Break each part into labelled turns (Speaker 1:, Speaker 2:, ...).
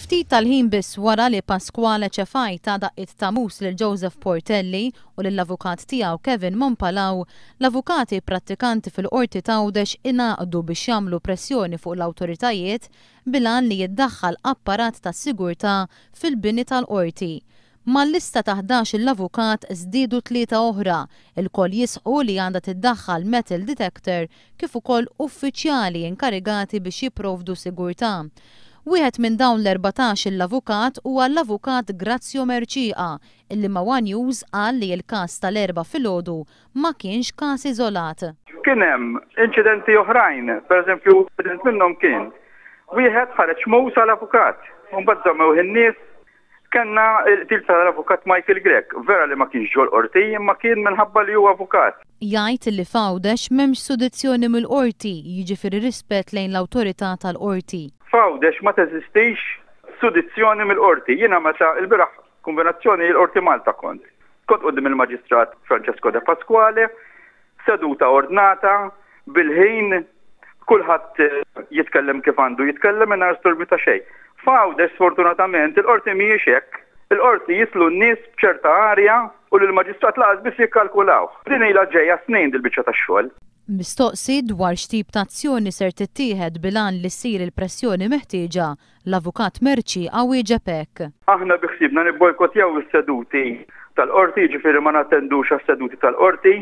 Speaker 1: Ftit tal-ħin biss wara li Pasquale Cefai ta daqqiet ta' mus lil Joseph Portelli u lill-avukat tiegħu Kevin Mompalao, l-avukati prattikanti fil-Qorti t'Għawdex ingħaqdu biex jagħmlu pressjoni fuq l-awtoritajiet bil-għan li jiddaħħal apparat ta' sigurtà fil-bini tal-Qorti. Mal-lista ta' 11-il avukat żdiedu tlieta oħra, ilkoll jisħqu li għandha tiddaħħal metal detector kif ukoll uffiċjali inkarigati biex jipprovdu sigurtà. Wieħed minn dawn l-14-il avukat huwa l-Avukat Grazio Mercieca illi ma' one News qal li l-każ tal-Erbgħa filgħodu ma kienx każ iżolat.
Speaker 2: Kien hemm inċidenti oħrajn, pereżempju inċident minnhom kien wieħed ħareġ mus għal avukat, u mbagħad żammewh in-nies. Kellna l-qtil tal-Avukat Michael Grech, vera li ma kienx ġol-Qorti imma kien minħabba li hu avukat.
Speaker 1: Jgħid li f'Għawdex m'hemmx sudizzjoni mill-Qorti, jiġifieri rispett lejn l-awtorità tal-Qorti.
Speaker 2: F'Għawdex ma teżistix sudizzjoni mill-Qorti. Jiena meta l-bieraħ kombinazzjoni l-Qorti Malta kont. Kont quddiem il-Maġistrat Francesco De Pasquale, seduta ordnata, bil-ħin, kulħadd jitkellem kif għandu jitkellem mingħajr storbju ta' xejn. F'Għawdex sfortunatament il-qorti mhijiex hekk. Il-qorti jidħlu n-nies b'ċerta arja u lill-maġistrat lanqas biss jikkalkulawh. Din ilha ġejja snin dil-biċċa tax-xogħol.
Speaker 1: Mistoqsi dwar x'tip ta' azzjoni ser tittieħed bil-għan li ssir il-pressjoni meħtieġa, L-Avukat Mercieca wieġeb hekk.
Speaker 2: Aħna bi ħsiebna nibbojkottjaw is-seduti tal-Qorti, jiġifieri ma nattendux għas-seduti tal-Qorti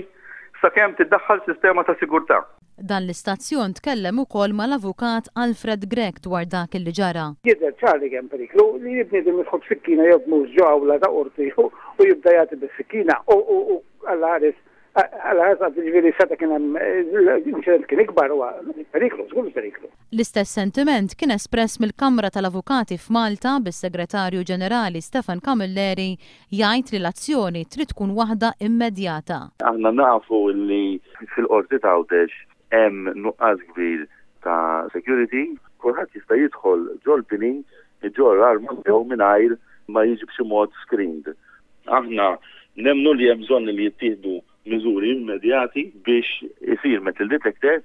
Speaker 2: sakemm tiddaħħal sistema ta' sigurtà.
Speaker 1: Dan l-istazzjon tkellem ukoll mal-Avukat Alfred Grech dwar dak li ġara.
Speaker 3: Jidher ċar li hemm periklu li bniedem jidħol b'sikkina jew b'mus ġo awla ta' qorti u jibda jagħti bis-sikkina u Alla ħares Alla ħares jiġifieri seta' kien hemm l-inċident kien ikbar huwa periklu, żgur periklu.
Speaker 1: L-istess sentiment kien espress mill-Kamra tal-Avukati f'Malta bis-Segretarju Ġenerali Stefan Camilleri jgħid li l-azzjoni trid tkun waħda immedjata.
Speaker 4: Aħna nafu li fil-Qorti t'Għawdex hemm nuqqas kbir ta' security. Kulħadd jista' jidħol ġol-bini iġorr arma miegħu mingħajr ma jiġi b'xi mod screened. Aħna nemmnu li hemm bżonn li jittieħdu miżuri immedjati biex isir metal detector.